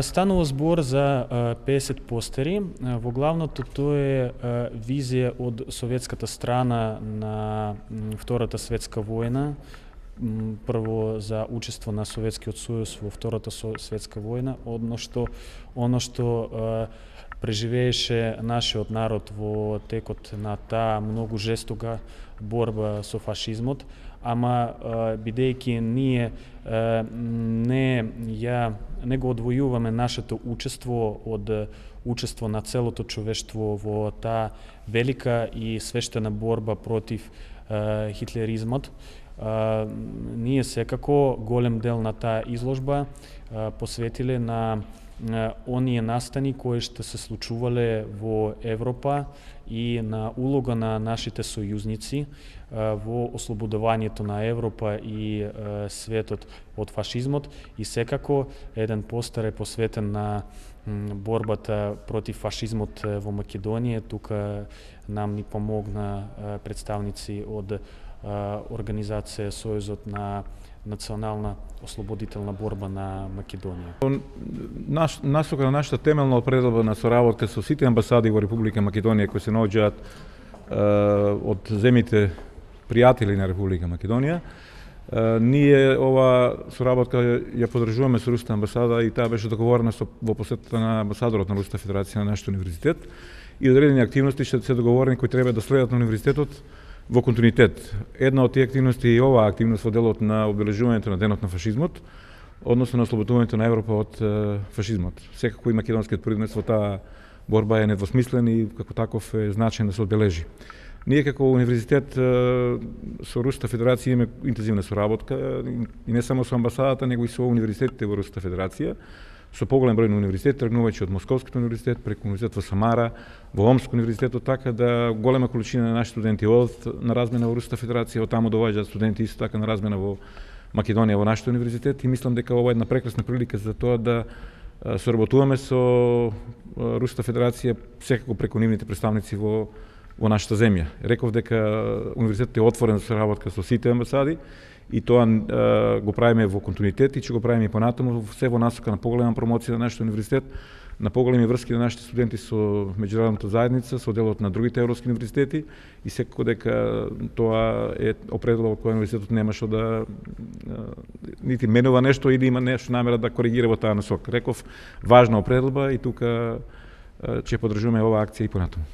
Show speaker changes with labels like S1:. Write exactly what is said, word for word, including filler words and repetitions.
S1: Станува збор за песет постери. Во главното тоа е визија од советската страна на Втората светска војна, прво за учество на Советскиот сојуз во Втората светска војна, одно што оно што преживееше нашиот народ во текот на таа многу жестока борба со фашизмот, ама бидејќи ние не ја не го одвојуваме нашето учество од учество на целото човештво во таа велика и свештена борба против хитлеризмот, ние секако голем дел на таа изложба посветиле на оние настани кои што се случувале во Европа и на улога на нашите сојузници во ослободувањето на Европа и светот од фашизмот, и секако еден постер е посветен на борбата против фашизмот во Македонија. Тука нам ни помогна представници од организација Сојузот на национална ослободителна борба на Македонија.
S2: Наш, насока на нашата темелна определба на соработка со сите амбасади во Република Македонија кои се наоѓаат од земите пријатели на Република Македонија, ние ова соработка ја подржуваме со Руската амбасада и таа беше договорена со, во посетата на амбасадорот на Руската федерација на нашиот универзитет, и одредени активности што се договорени кои треба да следат на универзитетот во континуитет. Една од тие активности е оваа активност во делот на обележувањето на денот на фашизмот, односно на ослободувањето на Европа од фашизмот. Секако и македонскиот принос во таа борба е недвосмислен и како таков е значаен да се одбележи. Ние како универзитет со Руската федерација имаме интензивна соработка и не само со амбасадата, него и со универзитетите во Руската федерација, со поголем број на универзитети, тргнувајќи од Московскиот универзитет, преку универзитет во Самара, во Омск универзитетот, така да голема количина на наши студенти одат на размена во Руската федерација, од таму доваѓаат студенти исто така на размена во Македонија во нашиот универзитет, и мислам дека ова е една прекрасна прилика за тоа да соработуваме со Руската федерација секако преку нивните представници во во нашата земја. Реков дека универзитетот е отворен за соработка со сите амбасади и тоа е, го правиме во континуитет и ќе го правиме и понатаму, се во насока на поголема промоција на нашиот универзитет, на поголеми врски на нашите студенти со меѓународната заедница, со делот на другите европски универзитети, и секако дека тоа е определба од која универзитетот нема што да нити менува нешто или има нешто намера да коригира во таа насока. Реков, важна определба и тука ќе поддржуваме оваа акција и понатаму.